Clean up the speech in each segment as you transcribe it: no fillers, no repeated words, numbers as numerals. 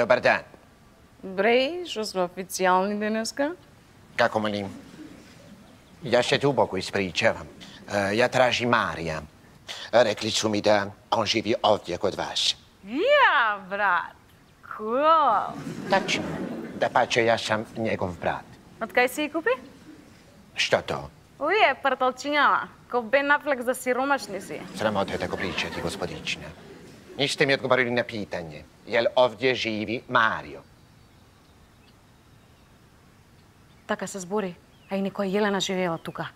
Добар ден. Бреј, што сме официјални денеска? Како молим? Ја се дубоко испричавам. Ја тражи Марија. Рекли су ми да он живи овдje kod vas. Ја, брат. Cool. Tačno. Da pače, ja sam njegov brat. Од кај се ја купи? Što to? Уе, парталчињава. Ко Бен Афлек за сиромашни си. Sramota je tako pričati, gospodična. Niste mi odgovorili na pitanje. Jel ovdje živi Mario? Така се збори. А и некоја Јелена живеела тука.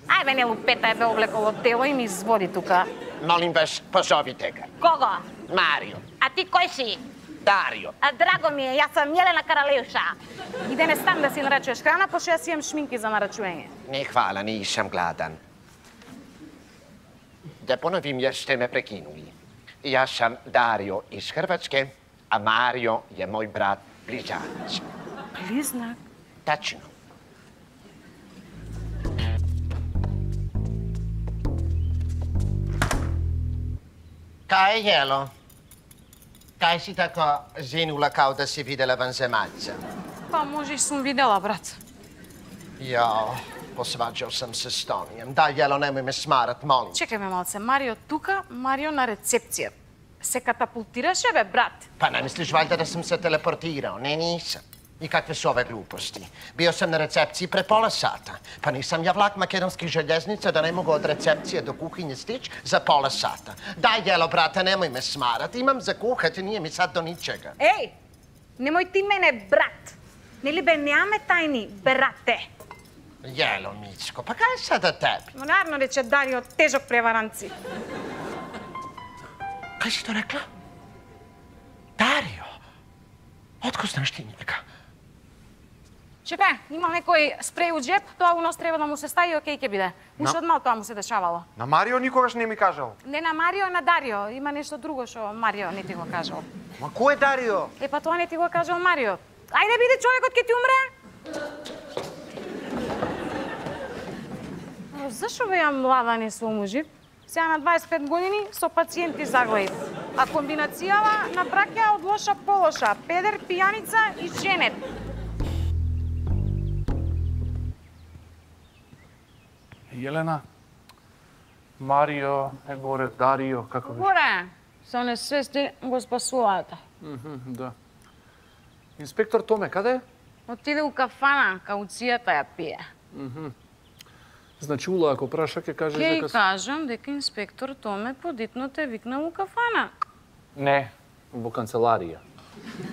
Ај бе, не лупета, е бе облеколо тело и ми изводи тука. Molim vas, pozovite ga. Кого? Mario. А ти кој си? Dario. А драго ми е, јас сам Јелена Каралевша. Иде не стан да си нарачуваш храна, пошто јас имам шминки за нарачување. Ne, hvala, nisam gladan. Da ponovim jer ste me prekinuli. Ja sam Dario iz Hrvatske, a Mario je moj brat blizanac. Близнак? Tačno. Kaj je jelo? Kaj si tako zinula kao da si videla vanzemaljca? Па може и сум видела, брат. Jao, posvađao sam se s Tonijem. Da, jelo, nemoj me smarat, molim. Чекај ме малце, Марио тука, Марио на рецепција. Се катапултираше, бе, брат. Pa ne misliš valjda da sam se teleportirao? Ne, nisam. I kakve su ove gluposti? Bio sam na recepciji pre pola sata. Pa nisam ja vlak makedonskih željeznica da ne mogu od recepcije do kuhinje stić za pola sata. Daj, jelo, brate, nemoj me smarat. Imam za kuhati, nije mi sad do ničega. Еј, немој ти мене брат. Нели бе, немаме тајни, брате. Jelo, Micko, pa kaj je sada tebi? Naravno рече Дарио, тежок преваранци. Kaj si to rekla? Dario? Otko znaš ti njega? Шефе, има некој спреј у джеп, тоа у нас треба да му се стави, окей ќе биде. Уште од мал тоа му се дешавало. На Марио никогаш не ми кажал. Не на Марио, на Дарио. Има нешто друго што Марио не ти го кажал. Ма кој е Дарио? Е, па тоа не ти го кажал Марио. Ајде биде човекот ќе ти умре. Зашо бе ја млада не се омужив? Сега на 25 години со пациенти заглаив. А комбинацијава на браќа од лоша по лоша. Педер, пијаница и женет. Јелена, Марио е горе, Дарио, како беше? Горе, со несвести го спасуваат. Да. Инспектор Томе, каде е? Отиде у кафана, кауцијата ја пие. Значи, Ула, ако праша, ќе кажеш Ќе дека... и кажам дека инспектор Томе подитно те викнал у кафана. Не, во канцеларија.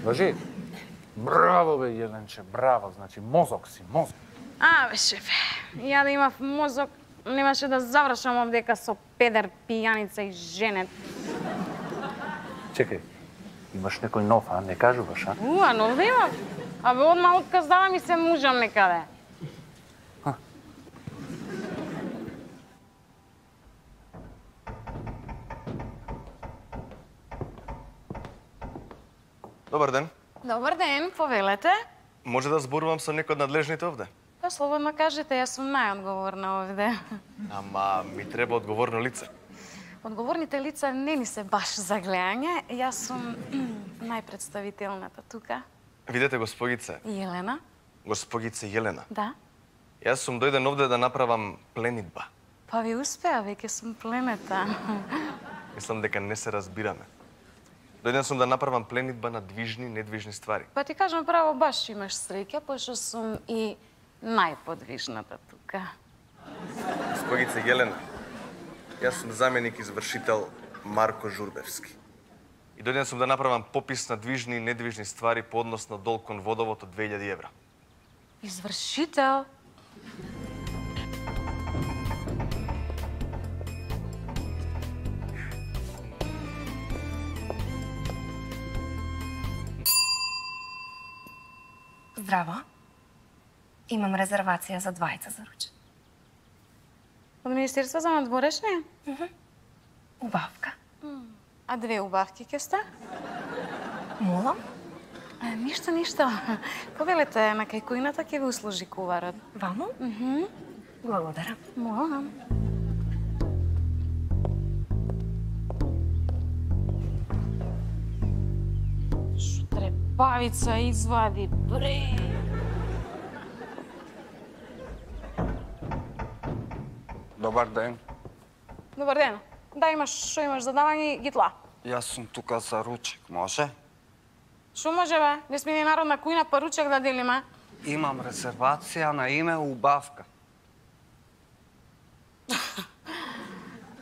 Важи? Браво, бе, Јеленче, браво. Значи, мозок си, мозок. А, бе, шефе, ја да имав мозок, немаше да завршам овдека со педер, пијаница и женет. Чекај, имаш некој нов, а? Не кажуваш, а? Но да имав. А бе, одма отказ дава ми се мужам некаде. Добар ден. Добар ден, повелете. Може да зборувам со некој од надлежните овде? Па слободно кажете, јас сум најодговорна овде. Ама ми треба одговорно лице. Одговорните лица не ни се баш за гледање. Јас сум најпредставителната тука. Видете, госпогице. Јелена. Госпогице Јелена. Да. Јас сум дојден овде да направам пленитба. Па ви успеа, веќе сум пленета. Мислам дека не се разбираме. Дојден сум да направам пленитба на движни, недвижни ствари. Па ти кажам право, баш имаш среќа, пошто сум и најподвижната тука. Госпогице Јелена, јас сум заменик извршител Марко Журбевски. И дојден сум да направам попис на движни и недвижни ствари по однос на долг кон водовод од 2000 евра. Извршител? Здраво. Имам резервација за двајца за ручек. Од Министерство за надворешни? Убавка. А две убавки ке сте? Молам? Ништо. Повелете на кајкуината ќе ви услужи куварот. Ваму? Благодарам. Молам. Шо треба? бавица извади бре. Добар ден. Добар ден. Да, што имаш за давање, гитла. Јас сум тука за ручек, може? Шо може, бе? Не сме ни народна кујна, па ручек да делиме. Имам резервација на име Убавка.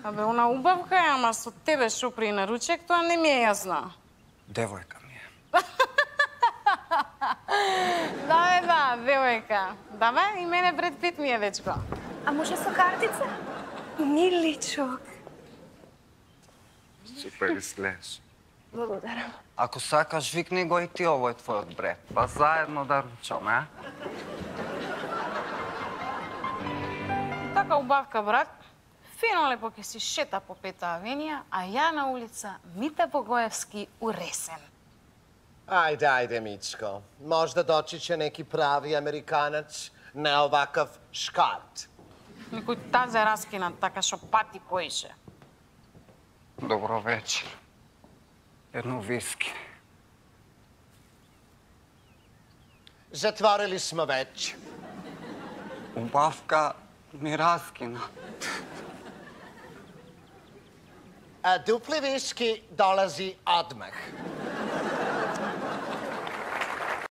Абе, она убавка е, ама со тебе шо при на ручек, тоа не ми е јасно. Девојка ми е. Да, девојка. Да, бе, и мене Бред Пит ми е, дечко. А може со картица? Миличок. Супер изгледаш. Благодарам. Ако сакаш, викни го и ти овој твојот брат. Па заедно да ручаме, а? Така убавка, брат. Фино лепо ќе си шета по Пета авенија, а ја на улица Мите Богоевски уресен. Ајде, Мичко. Можда дочиќе неки прави американец, не овакав шкарт. Некој тазе раскинат, така шо пати поише. Добро вечер. Едно виски. Затворили сме веќе. Убавка ми раскина. А дупли виски долази одмах.